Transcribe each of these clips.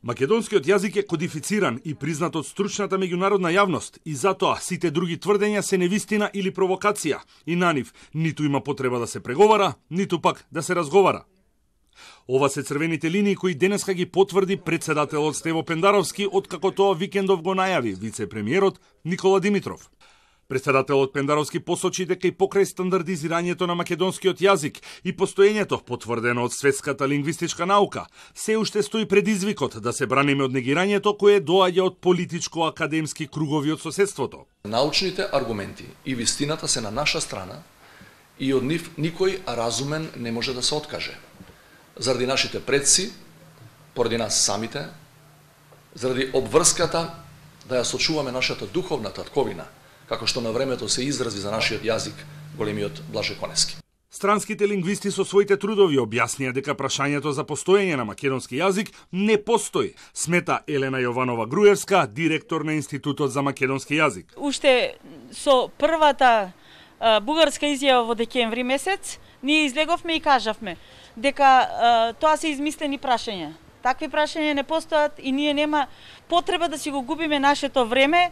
Македонскиот јазик е кодифициран и признат од стручната меѓународна јавност и затоа сите други тврдења се невистина или провокација и на нив ниту има потреба да се преговара, ниту пак да се разговара. Ова се црвените линии кои денеска ги потврди председателот Стево Пендаровски откако тоа викендов го најави вице-премиерот Никола Димитров. Председателот Пендаровски посочи дека и покрај стандардизирањето на македонскиот јазик и постоењето потврдено од светската лингвистичка наука, се уште стои предизвикот да се браниме од негирањето кое доаѓа од политичко-академски кругови од соседството. Научните аргументи и вистината се на наша страна и од нив никој разумен не може да се откаже. Заради нашите предци, поради нас самите, заради обврската да ја сочуваме нашата духовна татковина, како што на времето се изрази за нашиот јазик големиот Блаже Конески. Странските лингвисти со своите трудови објаснија дека прашањето за постоење на македонски јазик не постои, смета Елена Јованова Груевска, директор на Институтот за македонски јазик. Уште со првата бугарска изјава во декември месец, ние излеговме и кажавме дека тоа се измислени прашања. Такви прашања не постојат и ние нема потреба да си го губиме нашето време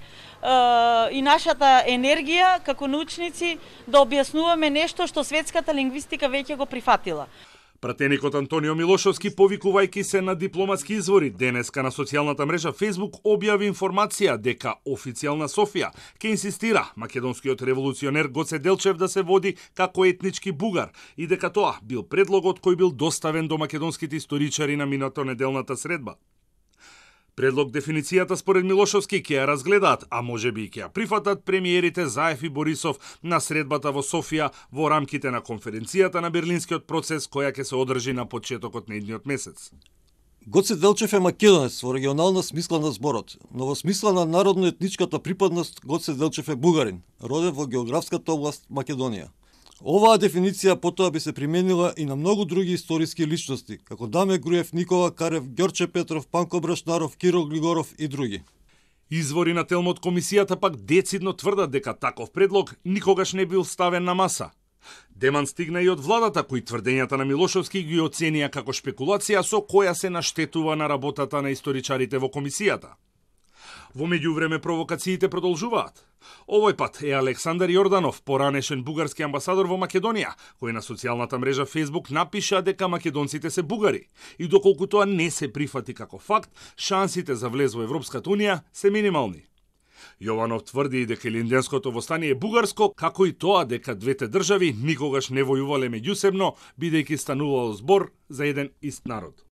и нашата енергија како научници да објаснуваме нешто што светската лингвистика веќе го прифатила. Пратеникот Антонио Милошовски, повикувајќи се на дипломатски извори, денеска на социјалната мрежа Facebook објави информација дека официјална Софија ќе инсистира македонскиот револуционер Гоце Делчев да се води како етнички бугар и дека тоа бил предлогот кој бил доставен до македонските историчари на минато неделната средба. Предлог дефиницијата според Милошовски ќе ја разгледаат, а можеби и ќе ја прифатат премиерите Заев и Борисов на средбата во Софија во рамките на конференцијата на Берлинскиот процес која ќе се одржи на почетокот на идниот месец. Гоце Делчев е македонец во регионална смисла на зборот, но во смисла на народно-етничката припадност Гоце Делчев е бугарин, роден во географската област Македонија. Оваа дефиниција потоа би се применила и на многу други историски личности, како Даме Груев, Никола Карев, Ѓорче Петров, Панко Брашнаров, Киро Глигоров и други. Извори на телмо од комисијата пак децидно тврдат дека таков предлог никогаш не бил ставен на маса. Деман стигна и од владата, кои тврдењата на Милошовски ги оценија како шпекулација со која се наштетува на работата на историчарите во комисијата. Во меѓувреме провокациите продолжуваат. Овој пат е Александар Јорданов, поранешен бугарски амбасадор во Македонија, кој на социјалната мрежа Facebook напиша дека македонците се бугари и доколку тоа не се прифати како факт, шансите за влез во Европската унија се минимални. Јованов тврди и дека Илинденското востание е бугарско, како и тоа дека двете држави никогаш не војувале меѓусебно, бидејќи станувало збор за еден ист народ.